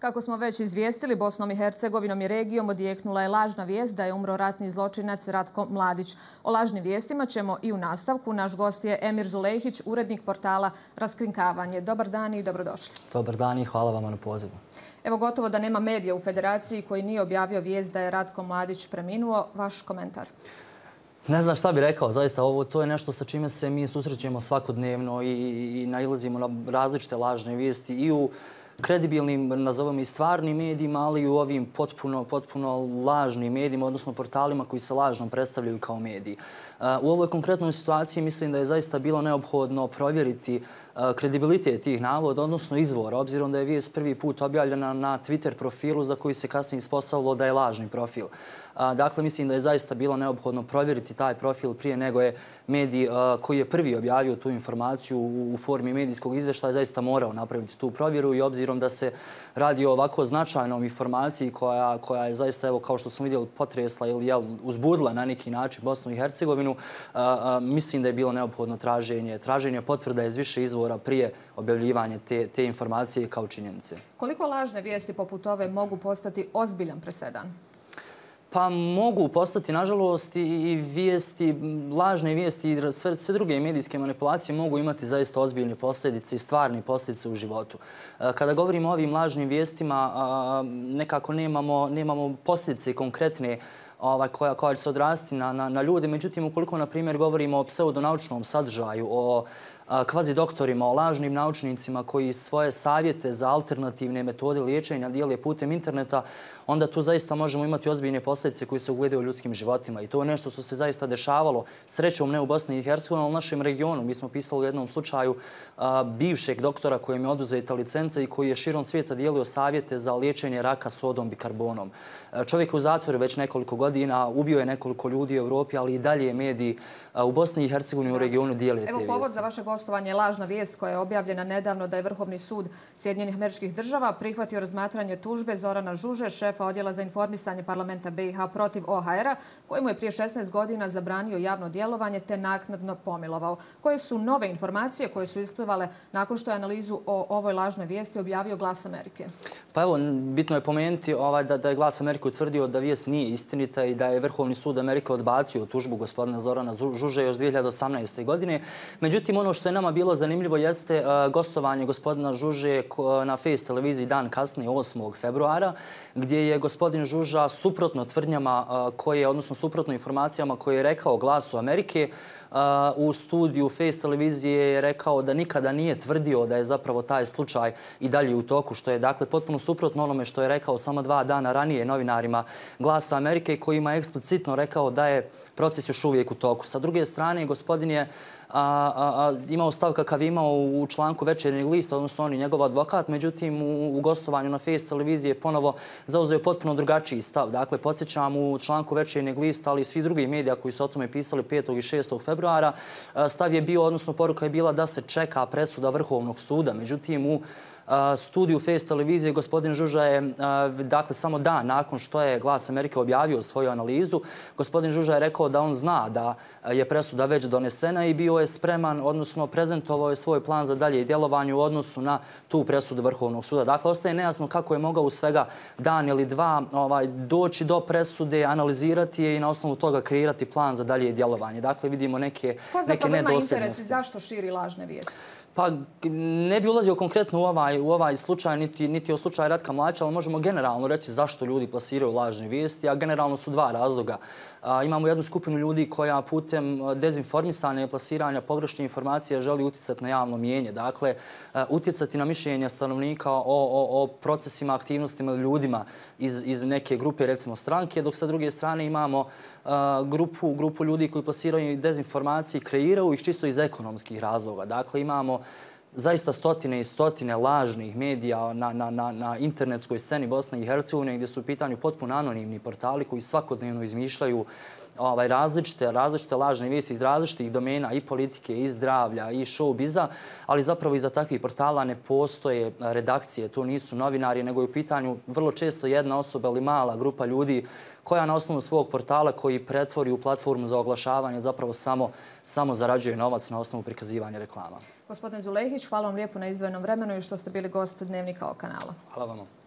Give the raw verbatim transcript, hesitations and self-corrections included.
Kako smo već izvijestili, Bosnom i Hercegovinom i regijom odjeknula je lažna vijest da je umro ratni zločinac Ratko Mladić. O lažnim vijestima ćemo i u nastavku. Naš gost je Emir Zulejhić, urednik portala Raskrinkavanje. Dobar dan i dobrodošli. Dobar dan i hvala vama na pozivu. Evo, gotovo da nema medija u Federaciji koji nije objavio vijest da je Ratko Mladić preminuo. Vaš komentar? Ne znam šta bih rekao, zaista ovo to je nešto sa čime se mi susrećemo svakodnevno i, i nailazimo na različite lažne vijesti i u kredibilnim, nazovemo i stvarnim medijima, ali i u ovim potpuno, potpuno lažnim medijima, odnosno portalima koji se lažno predstavljaju kao mediji. U ovoj konkretnoj situaciji mislim da je zaista bilo neophodno provjeriti kredibilitet tih navoda, odnosno izvora, obzirom da je vijest prvi put objavljena na Twitter profilu za koji se kasnije ispostavilo da je lažni profil. Dakle, mislim da je zaista bilo neophodno provjeriti taj profil prije nego je medij koji je prvi objavio tu informaciju u formi medijskog izvještaja zaista morao napraviti tu provjeru i obzirom da se radi o ovako značajnom informaciji koja, koja je zaista, evo, kao što smo vidjeli, potresla ili jel, uzbudila na neki način Bosnu i Hercegovinu, mislim da je bilo neophodno traženje, traženje potvrda iz više izvora prije objavljivanja te, te informacije kao činjenice. Koliko lažne vijesti poput ove mogu postati ozbiljan presedan? Pa mogu postati, nažalost, i vijesti, lažne vijesti i sve, sve druge medijske manipulacije mogu imati zaista ozbiljne posljedice i stvarne posljedice u životu. Kada govorimo o ovim lažnim vijestima, nekako nemamo, nemamo posljedice konkretne Ovaj, koja, koja će se odrasti na, na, na ljude. Međutim, ukoliko, na primjer, govorimo o pseudonaučnom sadržaju, o a, kvazi doktorima, o lažnim naučnicima koji svoje savjete za alternativne metode liječenja dijele putem interneta, onda tu zaista možemo imati ozbiljne posljedice koje se ugledaju u ljudskim životima. I to je nešto što se zaista dešavalo, srećom ne u Bosni i Hercegovini, ali u našem regionu. Mi smo pisali u jednom slučaju a, bivšeg doktora kojem je oduzeta licenca i koji je širom svijeta dijelio savjete za liječenje raka sodom bikarbonom. A, čovjek je u zatvoru već nekoliko godina, ubio je nekoliko ljudi u Evropi, ali i dalje mediji u Bosni i Hercegovini u regionu dijele te vijesti. Evo, povod za vaše gostovanje je lažna vijest koja je objavljena nedavno da je Vrhovni sud Sjedinjenih Američkih Država prihvatio razmatranje tužbe Zorana Žuže, šefa Odjela za informisanje parlamenta B i H protiv O H R-a, kojemu je prije šesnaest godina zabranio javno djelovanje te naknadno pomilovao. Koje su nove informacije koje su isplivale nakon što je analizu o ovoj lažnoj vijesti objavio Glas Amerike? Pa evo, bitno je pomenuti ovaj, da, da je Glas Amerike utvrdio da vijest nije istinita i da je Vrhovni sud Amerike odbacio tužbu gospodina Zorana Žuže još dvije hiljade osamnaeste. godine. Međutim, ono što je nama bilo zanimljivo jeste uh, gostovanje gospodina Žuže na Face televiziji dan kasnije, osmog februara, gdje je gospodin Žuža suprotno tvrdnjama uh, koje, odnosno suprotno informacijama koje je rekao Glasu Amerike, Uh, u studiju Face televizije je rekao da nikada nije tvrdio da je zapravo taj slučaj i dalje u toku, što je dakle potpuno suprotno onome što je rekao samo dva dana ranije novinarima Glasa Amerike, kojima je eksplicitno rekao da je proces još uvijek u toku. Sa druge strane, gospodin je A, a, a, imao stav kakav je imao u članku Večernjeg lista, odnosno on i njegov advokat, međutim u, u gostovanju na Face televiziji je ponovo zauzeo potpuno drugačiji stav. Dakle, podsjećam, u članku Večernjeg lista, ali i svi drugi medija koji su o tome pisali petog i šestog februara, stav je bio, odnosno poruka je bila da se čeka presuda Vrhovnog suda. Međutim, u studiju Face televizije gospodin Žuža je, dakle, samo dan nakon što je Glas Amerike objavio svoju analizu, gospodin Žuža je rekao da on zna da je presuda već donesena i bio je spreman, odnosno prezentovao je svoj plan za dalje djelovanje u odnosu na tu presudu Vrhovnog suda. Dakle, ostaje nejasno kako je mogao u svega dan ili dva ovaj, doći do presude, analizirati je i na osnovu toga kreirati plan za dalje djelovanje. Dakle, vidimo neke, neke nedosljednosti. Ko zapravo ima interes i zašto širi lažne vijesti? Pa ne bi ulazio konkretno u ovaj, u ovaj slučaj, niti, niti o slučaju Ratka Mladića, ali možemo generalno reći zašto ljudi plasiraju lažne vijesti, a generalno su dva razloga. A, imamo jednu skupinu ljudi koja putem dezinformisanja i plasiranja pogrešne informacije želi utjecati na javno mijenje. Dakle, utjecati na mišljenje stanovnika o, o, o procesima, aktivnostima ljudima iz, iz neke grupe, recimo stranke, dok sa druge strane imamo a, grupu, grupu ljudi koji plasiraju dezinformacije i kreiraju ih čisto iz ekonomskih razloga. Dakle, imamo zaista stotine i stotine lažnih medija na, na, na, na internetskoj sceni Bosne i Hercegovine gdje su u pitanju potpuno anonimni portali koji svakodnevno izmišljaju ovaj, različite, različite lažne vijesti iz različitih domena i politike, i zdravlja, i showbiza, ali zapravo iza takvih portala ne postoje redakcije, to nisu novinari, nego je u pitanju vrlo često jedna osoba ili mala grupa ljudi koja na osnovu svog portala koji pretvori u platformu za oglašavanje zapravo samo, samo zarađuje novac na osnovu prikazivanja reklama. Gospodin Zulejhić, hvala vam lijepo na izdvojenom vremenu i što ste bili gost Dnevnika O kanala. Hvala vam.